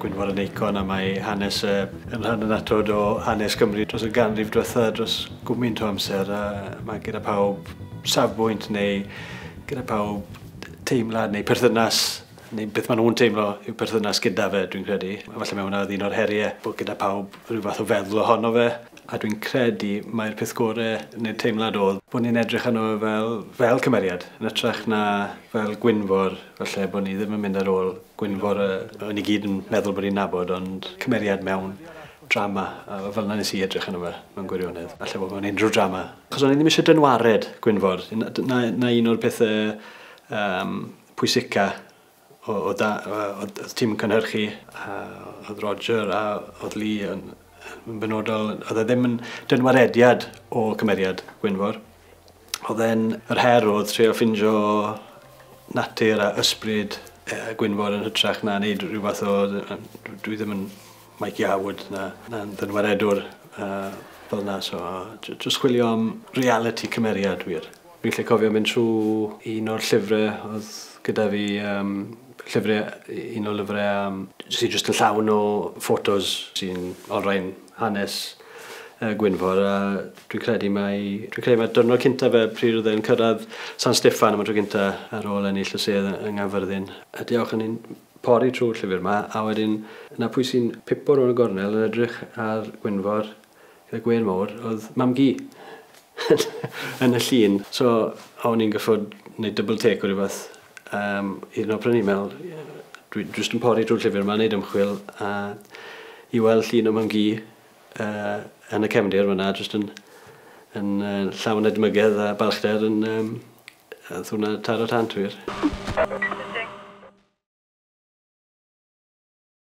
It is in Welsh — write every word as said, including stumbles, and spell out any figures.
Gwynfor yn eicon a mae hanes uh, yn rhan annatod o hanes Cymru dros y ganrif diwetha, dros gwmynt o amser, a mae gyda pawb safbwynt neu gyda pawb teimlad neu perthynas, neu beth maen nhw'n teimlo yw perthynas gyda fe, dwi'n credu. A falle mae hwnna oedd un o'r heriau, bod gyda pawb rhyw fath o feddwl ohono fe. A dwi'n credu mai'r peth gorau neu'r teimlad oedd bod ni'n edrych arno fe fel, fel cymeriad, yn hytrach na fel Gwynfor, falle bod ni ddim yn mynd ar ôl Gwynfor, o'n ni gyd yn meddwl bod ni'n nabod, ond cymeriad mewn drama, a fel yna nes i edrych arno fe mewn gwirionedd, falle bod mewn unrhyw drama. Achos o'n i ddim eisiau dynwared Gwynfor, na, na un o'r pethau um, pwysica o, o, da, o, o, o tîm cynhyrchu, a oedd Roger a oedd Lee yn, yn benodol, oedd e ddim yn dynwarediad o cymeriad Gwynfor. Oedd e'n, yr her oedd trio ffindio natur a ysbryd e, Gwynfor yn hytrach na wneud rhyw fath o, dwi ddim yn Mikey Howard na, na ddynwaredwr uh, fel na, so jyst chwilio am reality cymeriad wir. Dwi'n lle cofio mynd trwy un o'r llyfrau oedd gyda fi, um, llyfrau, un o'r lyfrau um, sy'n jyst yn llawn o ffotos sy'n olrhain hanes uh, Gwynfor, a dwi'n credu mai, dwi'n credu mai diwrnod cynta fe pryd oedd e'n cyrraedd San Steffan am y tro cynta ar ôl ennill y sedd yng Nghaerfyrddin. A diolch yn ni'n pori trwy'r llyfr yma, a wedyn na pwy sy'n pipo rownd y gornel yn edrych ar Gwynfor gyda gwên mawr, oedd mam-gu yn y llun. So o'n i'n gyffod wneud double take o rhywbeth. Um, un o'r prynu meddwl, dwi jyst yn pori trwy'r llyfr yma, wneud ymchwil, a i weld llun o mam-gu uh, yn y cefndir fyna, jyst yn, yn uh, llawn edmygedd a balchder yn, um, oedd hwnna taro tant wir.